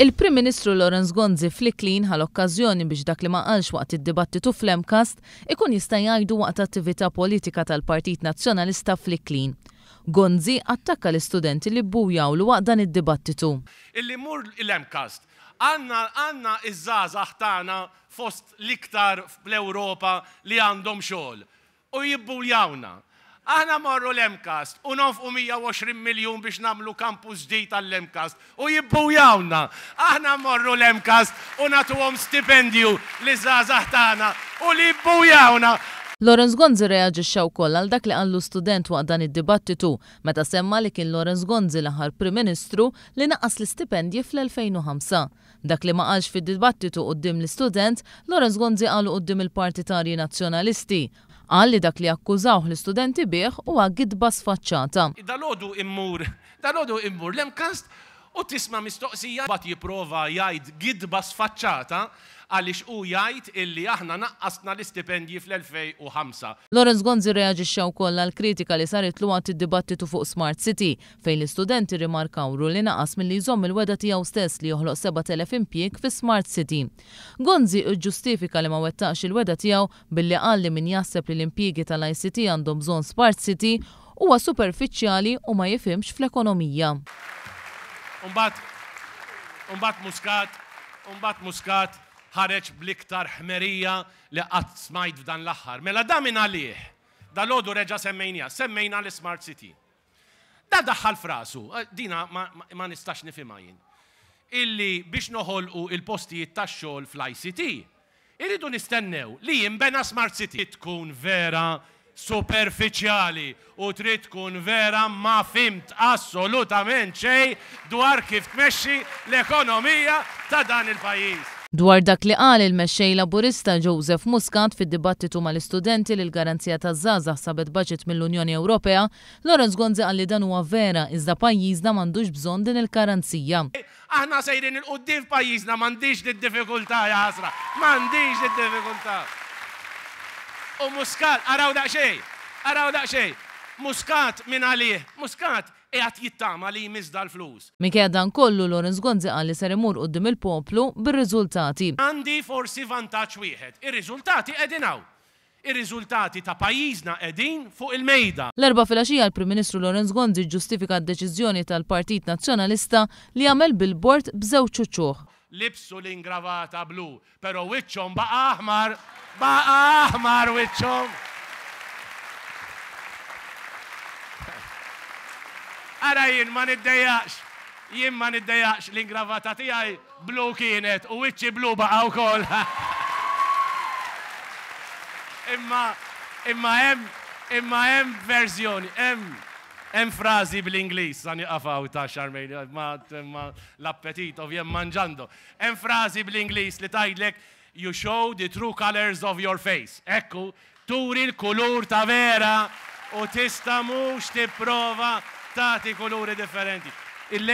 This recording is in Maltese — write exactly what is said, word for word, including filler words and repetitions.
Il-Prim Ministru Lawrence Gonzi fl-Iklin ħa l-okkażjoni biex dak li ma qalx waqt id-dibattitu fl-MCAST ikun jista' jgħidu waqt attività politika tal-Partit Nazzjonalista fl-Iklin. Gonzi attakka l-istudenti li bbujawlu waqt dan id-dibattitu. Illi mur l-MCAST, għandna għandna iż-żgħażagħ tagħna fost l-iktar fl-Ewropa li għandhom xogħol u jibbuljawna. Aħna morru l-MCAST u nonfqu mija u għoxrin miljun biex nagħmlu campus ġdid għall-MCAST u jibbujawna. Aħna morru l-MCAST u nagħtuhom stipendju liż-żgħażagħ tagħna u li jibbujawna. Lawrence Gonzi reaġixxa wkoll għal dak li qallu student waqt dan id-dibattitu meta semma li kien Lawrence Gonzi l-aħħar Prim Ministru li naqqas l-istipendji fl-elfejn u ħamsa. Dak li ma qalx fid-dibattitu quddiem l-istudent, Lawrence Gonzi qalu quddiem il-partitarji nazzjonalisti. Qal li dak li akkużawh l-istudenti bih huwa gidba sfaċċata. Dalgħodu immur, dalgħodu immur l-MCAST u tisma' mistoqsija bat jipprova jgħid gidba sfaċċata għaliex u jgħid illi aħna naqqasna l-istipendji fl-elfejn u ħamsa. Lawrence Gonzi reaġixxa wkoll għal kritika li saritlu waqt id-dibattitu fuq Smart City, fejn l-istudenti rimarkawru li naqas milli jżomm il-wegħda tiegħu stess li joħloq sebat elef impjieg fi Smart City. Gonzi ġġustifika li ma wettaqx il-wegħda tiegħu billi qal li min jaħseb li l-impjiegi tal-I C T għandhom bżonn Smart City huwa superfiċjali u ma jifhimx fl-ekonomija. Umbat, umbat Muscat, umbat Muscat ħareġ bl-iktar ħmerija li qatt smajt f'dan l-aħħar. Mela da minn għalih, dalgħodu reġa' semmejnija, semmejna l-Smart City. Da daħħal f'rasu, eh, dina ma, ma, ma nistax nifhimha jien. Illi biex noħolqu il-postijiet tax-xogħol fl-I C T, irridu nistennew li jinbena Smart City. Tkun vera superfiċjali u trid tkun vera ma fhimt assolutament xejn dwar kif tmexxi l-ekonomija ta' dan il-pajjiż. Dwar dak li qal il-mexxej Laburista Joseph Muscat fid-dibattitu mal-istudenti li l-garanzija taż-żgħażagħ sabet budget mill-Unjoni Ewropea, Lawrence Gonzi qal li dan huwa vera, iżda pajjiżna m'għandux bżonn din il-garanzija. Aħna sejrin 'il quddiem f'pajjiżna, m'għandix d-diffikultà, jaħasra, m'għandix d-diffikultà. U Muscat, araw daqsxejn, araw daqsxejn, Muscat minn għalih, Muscat qiegħed jittama li jmiss dal-flus. Minkejja dan kollu, Lawrence Gonzi qal li ser imur quddiem il-poplu bir-riżultati. Għandi forsi vantaġġ wieħed, ir-riżultati qegħdin hawn. Ir-riżultati ta' pajjiżna qegħdin fuq il-mejda. L-Erbgħa filgħaxija l-Prim Ministru Lawrence Gonzi ġġustifika d-deċiżjoni tal-Partit Nazzjonalista li jagħmel billboard b'żewġ uċuħ. Libsu l-ingravata blu, pero wiċċhom baqa' aħmar, baqa' aħmar wiċċhom. Ara, jien ma niddejjaqx, jien ma niddejjaqx, l-ingravata tiegħi blu kienet u wiċċi blu baqa' wkoll. Imma imma hemm imma hemm verżjoni, hemm hemm frażi bl-Ingliż, sa nieqaf hawn ta' Charmaine, ma, ma l-appetit ovvjem mangiando. Hemm frażi bl-Ingliż li tgħidlek "You show the true colors of your face." Ekku, turi l-kulur ta' vera u tista' mhux tipprova tagħti kuluri differenti. Il